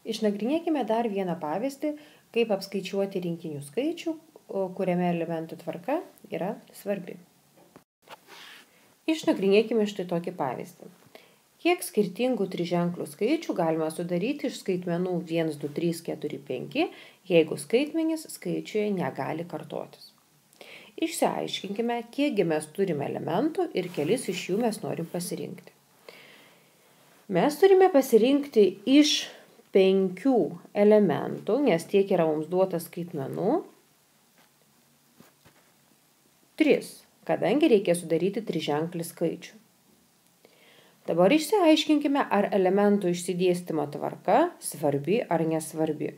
Išnagrinėkime dar vieną pavyzdį, kaip apskaičiuoti rinkinių skaičių, kuriame elementų tvarka yra svarbi. Išnagrinėkime štai tokį pavyzdį. Kiek skirtingų triženklių skaičių galima sudaryti iš skaitmenų 1, 2, 3, 4, 5, jeigu skaitmenys skaičiuje negali kartotis. Išsiaiškinkime, kiekgi mes turime elementų ir kelis iš jų mes norim pasirinkti. Mes turime pasirinkti iš 5 elementų, nes tiek yra mums duota skaitmenų, 3, kadangi reikia sudaryti triženklį skaičių. Dabar išsiaiškinkime, ar elementų išsidėstymo tvarka svarbi ar nesvarbi.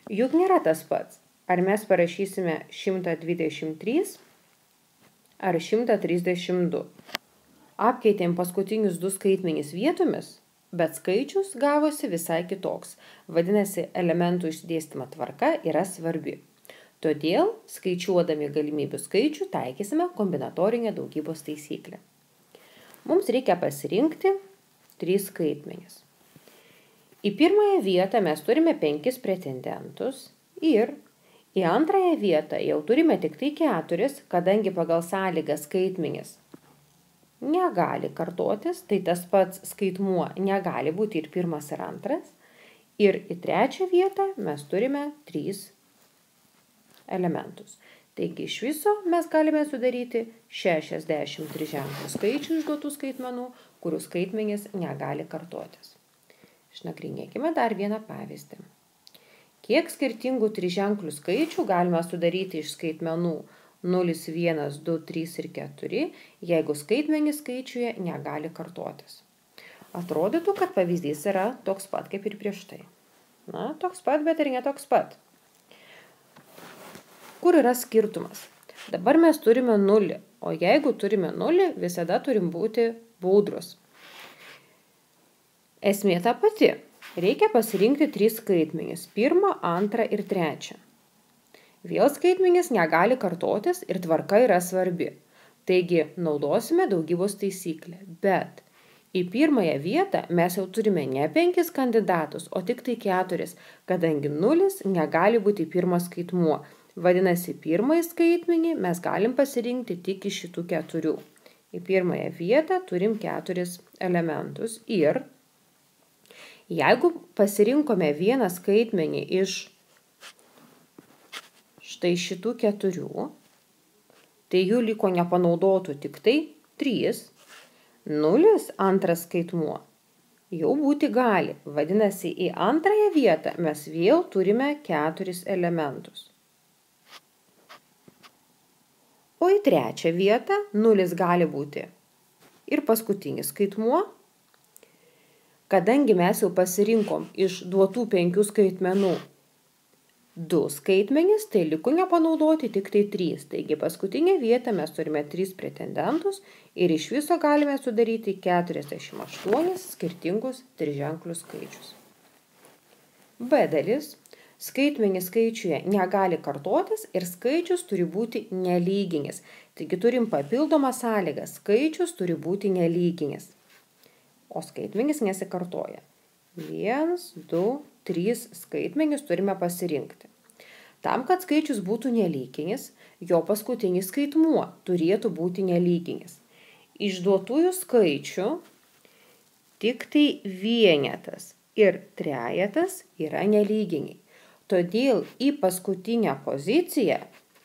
Juk nėra tas pats, ar mes parašysime 123 ar 132. Apkeitėm paskutinius 2 skaitmenys vietomis, bet skaičius gavosi visai kitoks. Vadinasi, elementų išsidėstymo tvarka yra svarbi. Todėl, skaičiuodami galimybių skaičių, taikysime kombinatorinę daugybos taisyklę. Mums reikia pasirinkti 3 skaitmenis. Į pirmąją vietą mes turime 5 pretendentus ir į antrąją vietą jau turime tik tai 4, kadangi pagal sąlygą skaitmenis negali kartotis, tai tas pats skaitmuo negali būti ir pirmas ir antras. Ir į trečią vietą mes turime 3 elementus. Taigi iš viso mes galime sudaryti 60 triženklių skaičių išduotų skaitmenų, kurių skaitmenys negali kartotis. Išnagrinėkime dar vieną pavyzdį. Kiek skirtingų triženklių skaičių galima sudaryti iš skaitmenų 0, 1, 2, 3 ir 4, jeigu skaitmenys skaičiuje negali kartotis. Atrodytų, kad pavyzdys yra toks pat kaip ir prieš tai. Na, toks pat, bet ir ne toks pat. Kur yra skirtumas? Dabar mes turime 0, o jeigu turime 0, visada turim būti budrus. Esmė ta pati. Reikia pasirinkti 3 skaitmenis – 1, 2 ir 3. Vėl skaitmenis negali kartotis ir tvarka yra svarbi. Taigi naudosime daugybos taisyklę, bet į pirmąją vietą mes jau turime ne 5 kandidatus, o tik tai 4, kadangi 0 negali būti pirmas skaitmuo. Vadinasi, pirmąjį skaitmenį mes galim pasirinkti tik iš šitų 4. Į pirmąją vietą turim 4 elementus ir jeigu pasirinkome vieną skaitmenį iš štai šitų 4, tai jų liko nepanaudotų tik tai 3, 0, antras skaitmuo jau būti gali. Vadinasi, į antrąją vietą mes vėl turime 4 elementus. O į trečią vietą 0 gali būti ir paskutinis skaitmuo. Kadangi mes jau pasirinkom iš duotų 5 skaitmenų 2 skaitmenis, tai liko nepanaudoti tik tai 3. Taigi paskutinę vietą mes turime 3 pretendentus ir iš viso galime sudaryti 48 skirtingus triženklius skaičius. B dalis. Skaitmenys skaičiuje negali kartotis ir skaičius turi būti nelyginis. Taigi turim papildomą sąlygą. Skaičius turi būti nelyginis. O skaitmenys nesikartoja. 1, 2, 3 skaitmenys turime pasirinkti. Tam, kad skaičius būtų nelyginis, jo paskutinis skaitmuo turėtų būti nelyginis. Išduotųjų skaičių tik tai vienetas ir trejetas yra nelyginiai. Todėl į paskutinę poziciją,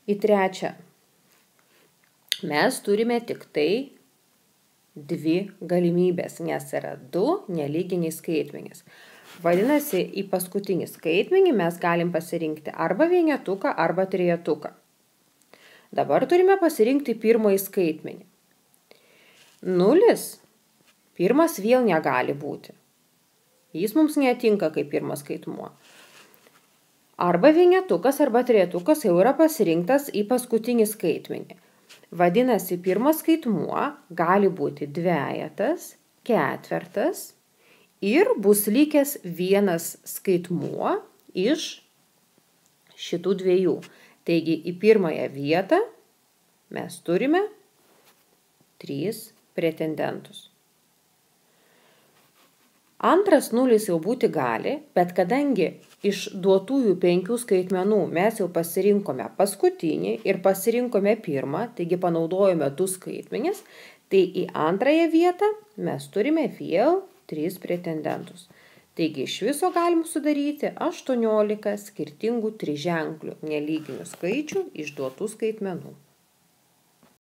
į trečią, mes turime tik tai 2 galimybės, nes yra 2 nelyginiai skaitmenys. Vadinasi, į paskutinį skaitmenį mes galim pasirinkti arba vienetuką, arba trejetuką. Dabar turime pasirinkti pirmąjį skaitmenį. 0, pirmas vėl negali būti. Jis mums netinka kaip pirmas skaitmuo. Arba vienetukas, arba trejetukas jau yra pasirinktas į paskutinį skaitmenį. Vadinasi, pirmas skaitmuo gali būti dvejetas, ketvertas ir bus likęs vienas skaitmuo iš šitų 2. Taigi į pirmąją vietą mes turime 3 pretendentus. Antras nulis jau būti gali, bet kadangi iš duotųjų 5 skaitmenų mes jau pasirinkome paskutinį ir pasirinkome pirmą, taigi panaudojome 2 skaitmenis, tai į antrąją vietą mes turime vėl 3 pretendentus. Taigi iš viso galim sudaryti 18 skirtingų triženklių nelyginių skaičių iš duotų skaitmenų.